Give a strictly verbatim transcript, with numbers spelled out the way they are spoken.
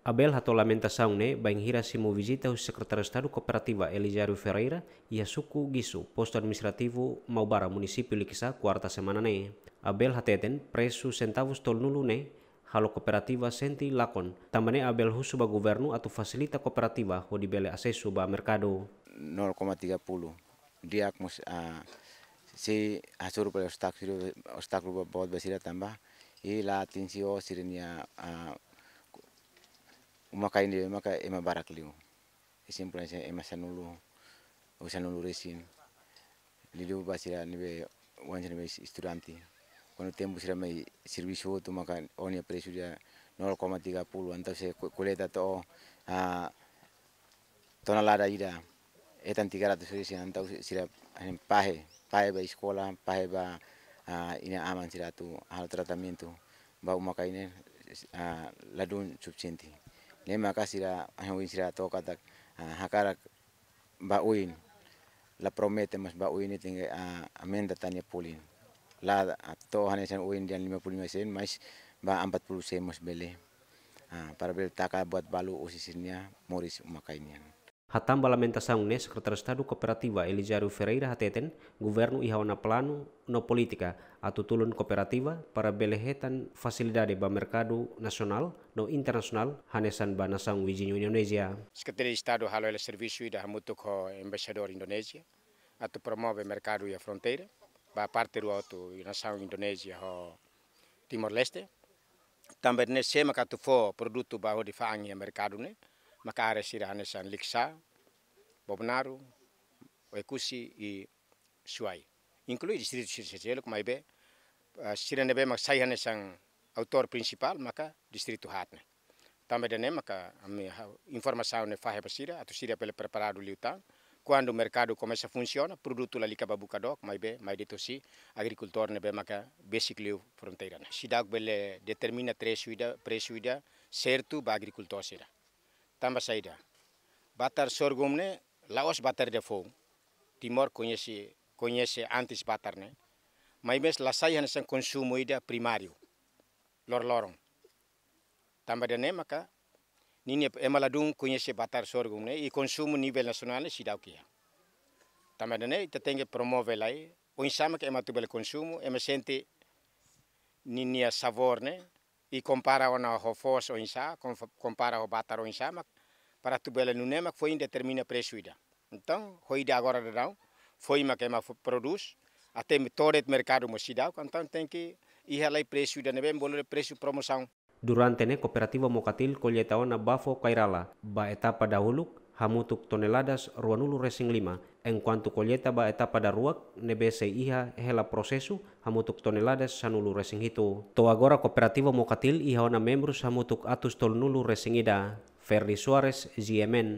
Abel hato'o lamentasaun ne'e bainhira simu vizita husi Sekretáriu Estadu Kooperativa Elizario Ferreira iha suku Gisu, Postu Administrativu Maubara, Munisípiu Likisá, kuarta semana ne'e. Abel hateten presu sentavus tolunulu ne'e halo kooperativa sente lakon. Tanba ne'e Abel husu ba governu atu fasilita kooperativa hodi bele asesu ba merkadu. Nol koma tiga puluh. Di'ak mós, ah, sei hasoru ba obstákulu, obstákulu boot ba sira tanba i la atinje ho sira-nia, ah, uma-kain ne'ebé maka ema barak liu. Ezemplu hanesan ema sanulu, ou sanulu-resin. Liuliu ba sira ne'ebé, oan sira ne'ebé estudante. Kuandu tempu sira mai servisu hotu maka ó-nia presu ida nol koma tiga puluh, entaun se ko-, koleta to'o, ah, tonelada ida, hetan tiga ratus resin, entaun sira, eh, pahe, pahe ba eskola, pahe ba, ah, inan-aman sira atu halo tratamentu ba uma-kain ne'e, ah, ladún sufisiente. Ne'e maka sira, eh, ohin sira to'o katak, ah, hakarak ba oin, la promete, mas ba oin ne'e tenke, ah, aumenta tan nia folin. La, ah, to'o hanesan oin dehan lima puluh lima sen, mas ba empat puluh sen mós bele. Ah, para bele taka buat balu husi sira-nia moris uma-kain nian. Hatán ba lamentasaun ne'e Sekretáriu Estadu Kooperativa Elizario Ferreira hateten, governu iha ona planu no polítika atu tulun kooperativa para bele hetan fasilidade ba merkadu nasionál no internasionál hanesan ba nasaun viziñu Indonézia. Sekretáriu Estadu halo hela servisu ida hamutuk ho Embaixadór Indonézia atu promove merkadu iha fronteira ba parte rua hotu, nasaun Indonézia ho Timor-Leste. Tanba ne'e sé maka atu fó produtu ba hodi fa'an iha merkadu ne'e, maka área sira hanesan Likisá, Bobonaro, Oekusi i Suai. Inklui distritu sira seluk, maibé, ah, sira ne'ebé mak sai hanesan autór prinsipál maka distritu haat ne'e. Tanba ida-ne'e maka ami ha-, informasaun ne'e fahe ba sira, atu sira bele preparadu liután. Kuandu merkadu komesa funsiona, produtu lalika ba buka dook, maibé mai de'it husi agrikultór ne'ebé maka besik liu fronteira ne'e. Seidauk bele determina presu ida, presu ida sertu ba agrikultór sira. Tanba saida? Batar sorghum ne'e la'ós batar ida foun. Timor koñese, koñese antes batar ne'e. Maibé la sai hanesan konsumu ida primáriu. Loroloron. Tanba ida-ne'e maka ninia ema ladún koñese batar sorghum ne'e i konsumu nivel nasionál ne'e seidauk iha. Tanba ida-ne'e ita tenke promove lai, oinsá maka ema atu bele konsumu, ema sente ninia sabór ne'e, i kompara ona ho foos oinsá, kom-, kompara ho batar oinsá mak, para atu bele nune'e mak foin determina presu ida. Entaun, ho ida agora daudaun, foin mak ema fo-, prodús, até mi-, to'o de'it merkadu mós seidauk, entaun tenke iha lai presu ida ne'ebé bolu dehan presu promosaun. Durante ne'e kooperativa Mokatil kolleita ona bafo kairala ba etapa dahuluk hamutuk toneladas ruanulu-resin-lima, enkuantu kolleita ba etapa daruak ne'ebé sei iha hela prosesu hamutuk toneladas sanulu-resin-hitu. To'o agora kooperativa Mokatil iha ona membrus hamutuk atus tolunulu-resin-ida. Ferdi Soares, G M N,